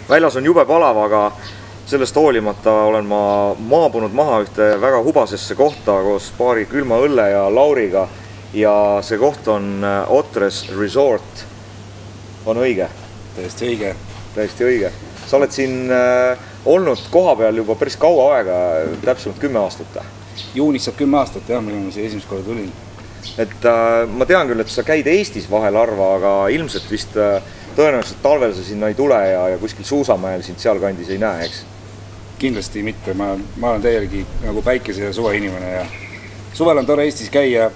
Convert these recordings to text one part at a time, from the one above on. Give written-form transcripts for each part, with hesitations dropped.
väljas on jube palav, aga sellest hoolimata olen ma maabunud maha ühte väga hubasesse kohta koos paari külma õlle ja Lauriga ja see koht on Otres Resort. On õige? Täiesti õige. Täiesti õige. Sa oled siin olnud koha peal juba päris kaua aega, täpsemalt 10 aastat. Juunis saab 10 aastat, jah, mille ma siia esimest korda tulin. Et ma tean küll, et sa käid Eestis vahel harva, aga ilmselt vist tõenäoliselt talvel sa sinna ei tule ja kuskil Suusamäel sind sealkandis ei näe, eks? Kindlasti mitte, ma olen täielgi nagu päikese ja suve inimene ja suvel on tore Eestis käia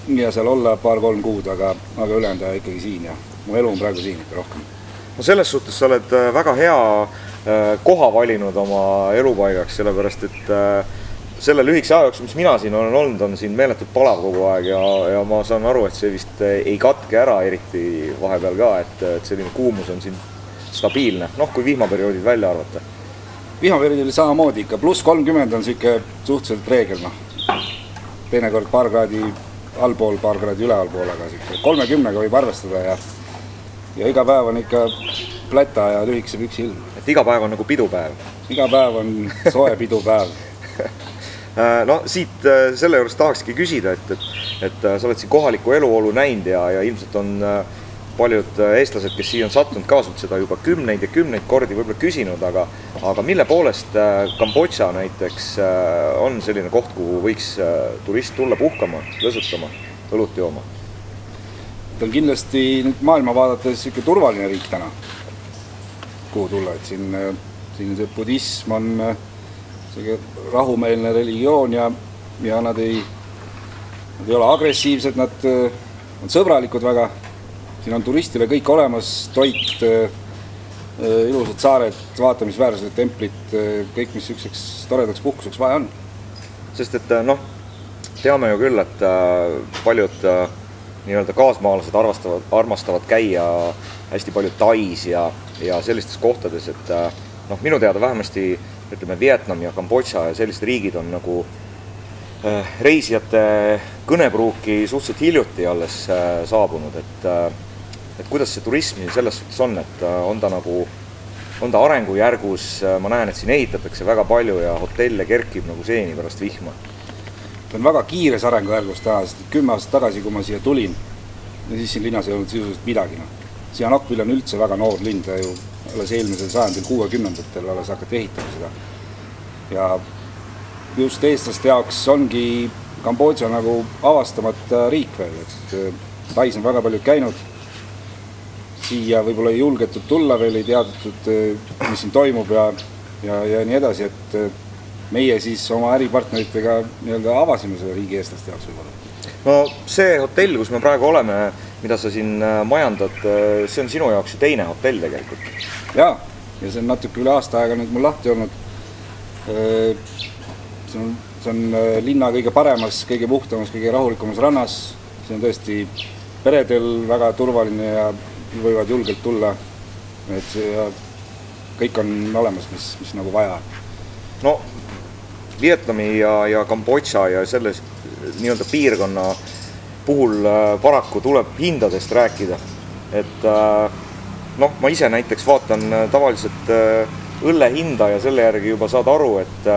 ja seal olla paar-kolm kuud, aga ülejäänud ikkagi siin ja mu elu on praegu siin ikka rohkem. No selles suhtes sa oled väga hea koha valinud oma elupaigaks, sellepärast et selle lühikese aja jooksul, mis mina siin olen olnud, on siin meeletult palav kogu aeg ja ma saan aru, et see vist ei katke ära eriti vahepeal ka, et selline kuumus on siin stabiilne, kui vihmaperioodid välja arvata. Vihmaperioodil samamoodi ikka, pluss 30 on siuke suhteliselt reegel, teinekord paar kraadi allpool, paar kraadi ülealpool, aga 30-ga võib arvestada ja iga päev on ikka pläta ja lühikese püksi ilm. Et iga päev on nagu pidupäev? Iga päev on soe pidupäev. No siit selle juures tahakski küsida, et sa oled siin kohaliku eluolu näinud ja ilmselt on paljud eestlased, kes siia on sattunud, kaasnud seda juba kümneid kordi võib-olla küsinud, aga mille poolest Kambodža näiteks on selline koht, kuhu võiks turist tulla puhkama, lõsutama, õlut jooma? Ta on kindlasti nüüd maailma vaadates ikka turvaline riik täna, kuhu tulla, et siin see budism on rahumeelne religioon ja nad ei ole agressiivsed, nad on sõbralikud väga. Siin on turistile kõik olemas, toit, ilusad saared, vaatamisväärsused, templid, kõik, mis ükseks toredaks puhkuseks vaja on. Sest et teame ju küll, et paljud nii-öelda kaasmaalased armastavad käia hästi palju Tais ja sellistes kohtades, et minu teada vähemasti ütleme, Vietnam ja Kambodža ja sellised riigid on nagu reisijate kõnepruuki suhteliselt hiljuti alles saabunud, et kuidas see turism selles suhtes on, et on ta arengujärgus, ma näen, et siin ehitatakse väga palju ja hotelle kerkib nagu seeni pärast vihma. Ta on väga kiires arengujärgus täna, sest 10 aastat tagasi, kui ma siia tulin, siis siin linnas ei olnud sisuliselt midagi. Sihanoukville on üldse väga noor linn, ta ju alles eelmisel sajandil 60-ndatel alles hakati ehitama seda. Ja just eestlaste jaoks ongi Kambodža nagu avastamata riik veel, et Tais on väga paljud käinud, siia võib-olla ei julgetud tulla veel, ei teadutud, mis siin toimub ja nii edasi, et meie siis oma äripartneritega avasime selle riigi eestlaste jaoks võib-olla. No see hotell, kus me praegu oleme, mida sa siin majandad, see on sinu jaoks ju teine hotell tegelikult. Jaa, ja see on natuke üle aasta aega nüüd mul lahti olnud. See on linna kõige paremas, kõige puhtamas, kõige rahulikumas rannas. See on tõesti peredel väga turvaline ja võivad julgelt tulla. Et kõik on olemas, mis nagu vaja. No, Vietnami ja Kambodža ja selles nii-öelda piirkonna puhul paraku tuleb hindadest rääkida. Et ma ise näiteks vaatan tavaliselt õlle hinda ja selle järgi juba saad aru, et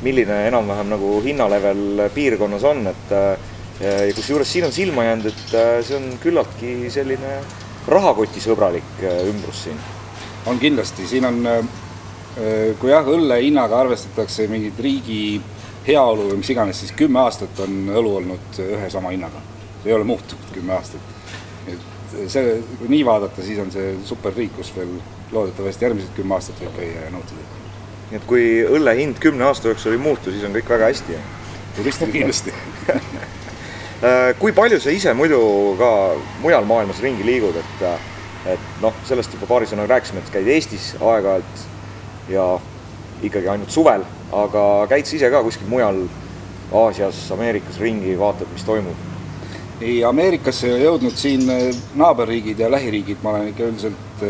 milline enam-vähem nagu hinnalevel piirkonnas on. Kus juures siin on silma jäänud, et see on küllaltki selline rahakotisõbralik ümbrus siin. On kindlasti, siin on, kui õlle hinnaga arvestatakse mingid riigi heaolu või mis iganes, siis 10 aastat on õlu olnud ühe sama hinnaga. See ei ole muutunud 10 aastat. Kui nii vaadata, siis on see super riik, kus veel loodetavasti järgmised 10 aastat võib käia ja nautida. Nii et kui õlle hind 10 aasta jooksul ei muutu, siis on kõik väga hästi. Turistil kindlasti. Kui palju sa ise muidu ka mujal maailmas ringi liigud, et sellest juba paari sõnaga rääkisime, et käid Eestis aeg-ajalt ja ikkagi ainult suvel, aga käid sa ise ka kuskil mujal Aasias, Ameerikas ringi, vaatad, mis toimub? Ei, Ameerikasse ei jõudnud siin naaberriigid ja lähiriigid, ma olen ikka üldiselt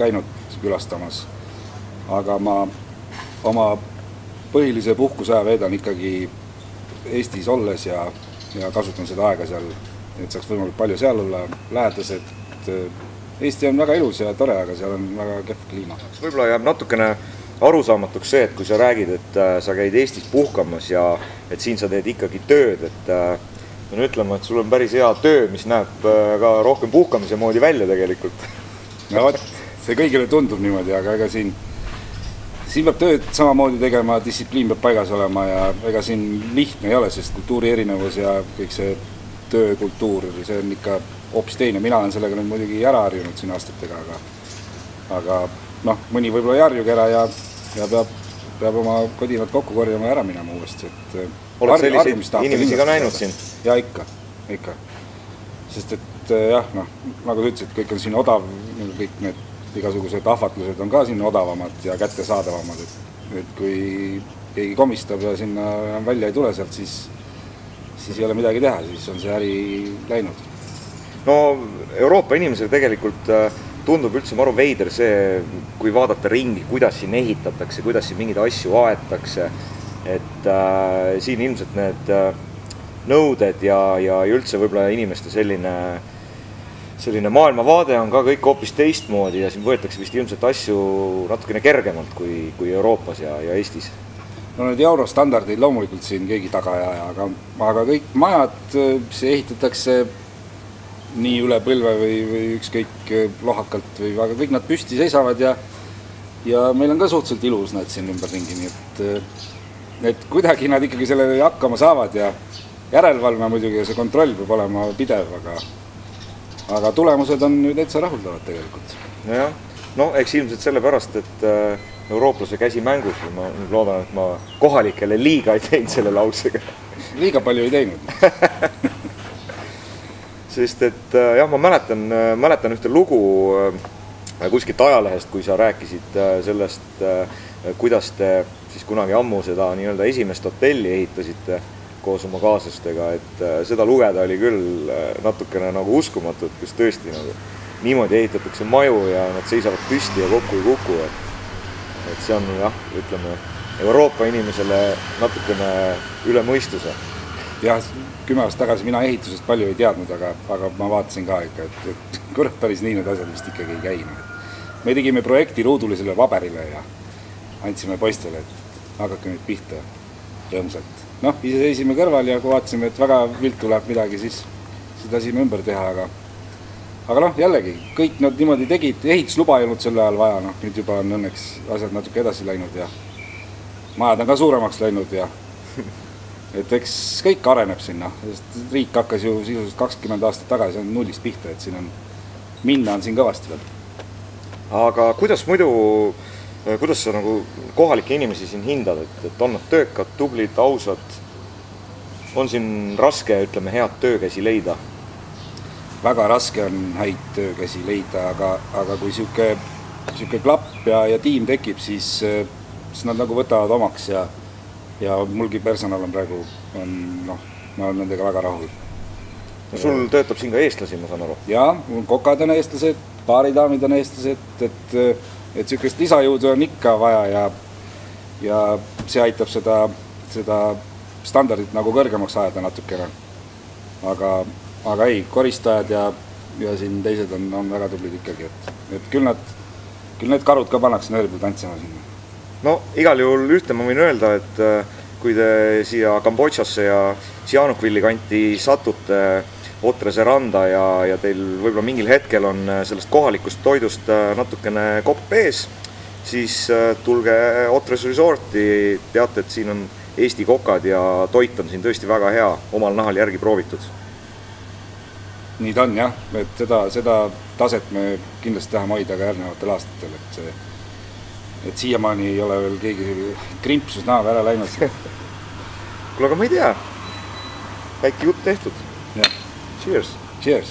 käinud külastamas. Aga ma oma põhilise puhkusaja veedan ikkagi Eestis olles ja kasutan seda aega seal, et saaks võimalikult palju seal olla, lähedased, Eesti on väga ilus ja tore, aga seal on väga kehv kliima. Võib-olla jääb natukene arusaamatuks see, et kui sa räägid, et sa käid Eestis puhkamas ja et siin sa teed ikkagi tööd, et pean ütlema, et sul on päris hea töö, mis näeb ka rohkem puhkamise moodi välja tegelikult. No vot, see kõigile tundub niimoodi, aga ega siin peab tööd samamoodi tegema, distsipliin peab paigas olema ja ega siin lihtne ei ole, sest kultuuri erinevus ja kõik see töökultuur, see on ikka hoopis teine. Mina olen sellega nüüd muidugi ära harjunud siin aastatega, aga noh, mõni võib-olla ei harjugi ära ja peab oma kodinad kokku korjama ja ära minema uuesti. Oled selliseid inimesi ka näinud siin? Ja ikka. Sest et jah, noh, nagu sa ütlesid, kõik on siin odav, kõik need igasugused ahvatlused on ka siin odavamad ja kättesaadavamad, et kui keegi komistab ja sinna välja ei tule sealt, siis ei ole midagi teha, siis on see äri läinud. No Euroopa inimesele tegelikult tundub üldse maru veider see, kui vaadata ringi, kuidas siin ehitatakse, kuidas siin mingeid asju aetakse, et siin ilmselt need nõuded ja üldse võib-olla inimeste selline maailmavaade on ka kõik hoopis teistmoodi ja siin võetakse vist ilmselt asju natukene kergemalt kui Euroopas ja Eestis. No need eurostandardeid loomulikult siin keegi taga ei aja, aga kõik majad, see ehitatakse nii üle põlve või ükskõik lohakalt või aga kõik nad püsti seisavad ja meil on ka suhteliselt ilus nad siin ümberringi, nii et kuidagi nad ikkagi selle hakkama saavad ja järelevalve muidugi ja see kontroll peab olema pidev, aga tulemused on ju täitsa rahuldavad tegelikult. Nojah, no eks ilmselt sellepärast, et eurooplase käsi mängus ja ma loodan, et ma kohalikele liiga ei teinud selle lausega. Liiga palju ei teinud. Sest et jah, ma mäletan ühte lugu kuskilt ajalehest, kui sa rääkisid sellest, kuidas te siis kunagi ammu seda nii-öelda esimest hotelli ehitasite koos oma kaaslastega, et seda lugeda oli küll natukene nagu uskumatu, et kus tõesti nagu niimoodi ehitatakse maju ja nad seisavad püsti ja kokku ei kuku, et see on jah, ütleme, Euroopa inimesele natukene üle mõistuse. Jah, 10 aastat tagasi mina ehitusest palju ei teadnud, aga ma vaatasin ka ikka, et kurat päris nii need asjad vist ikkagi ei käi. Me tegime projekti ruudulisele paberile ja andsime poistele, et hakake nüüd pihta rõõmsalt. Noh, ise seisime kõrval ja kui vaatasime, et väga vilt tuleb midagi, siis lasime ümber teha, aga noh, jällegi, kõik nad niimoodi tegid, ehitusluba ei olnud selle ajal vaja, noh, nüüd juba on õnneks asjad natuke edasi läinud ja majad on ka suuremaks läinud ja et eks kõik areneb sinna, sest riik hakkas ju sisuliselt 20 aastat tagasi on nullist pihta, et siin on, minna on siin kõvasti veel. Aga kuidas sa nagu kohalike inimesi siin hindad, et on nad töökad, tublid, ausad, on siin raske, ütleme, head töökäsi leida? Väga raske on häid töökäsi leida, aga kui siuke klapp ja tiim tekib, siis nad nagu võtavad omaks ja mulgi personal on praegu, noh, ma olen nendega väga rahul. No sul töötab siin ka eestlasi, ma saan aru? Jaa, kokad on eestlased, baaridaamid on eestlased, et siukest lisajõudu on ikka vaja ja see aitab seda standardit nagu kõrgemaks ajada natukene. Aga ei, koristajad ja siin teised on väga tublid ikkagi, et küll need karud ka pannakse nööri tantsima sinna. No igal juhul ühte ma võin öelda, et kui te siia Kambodžasse ja Sihanoukvilli kanti satute Otrese randa ja teil võib-olla mingil hetkel on sellest kohalikust toidust natukene kopp ees, siis tulge Otres Resorti, teate, et siin on Eesti kokad ja toit on siin tõesti väga hea, omal nahal järgi proovitud. Nii ta on jah, et seda taset me kindlasti tahame hoida ka järgnevatel aastatel, et siiamaani ei ole veel keegi krimpsus näo ära läinud. Kuule, aga ma ei tea, väike jutt tehtud. Ja. Cheers! Cheers!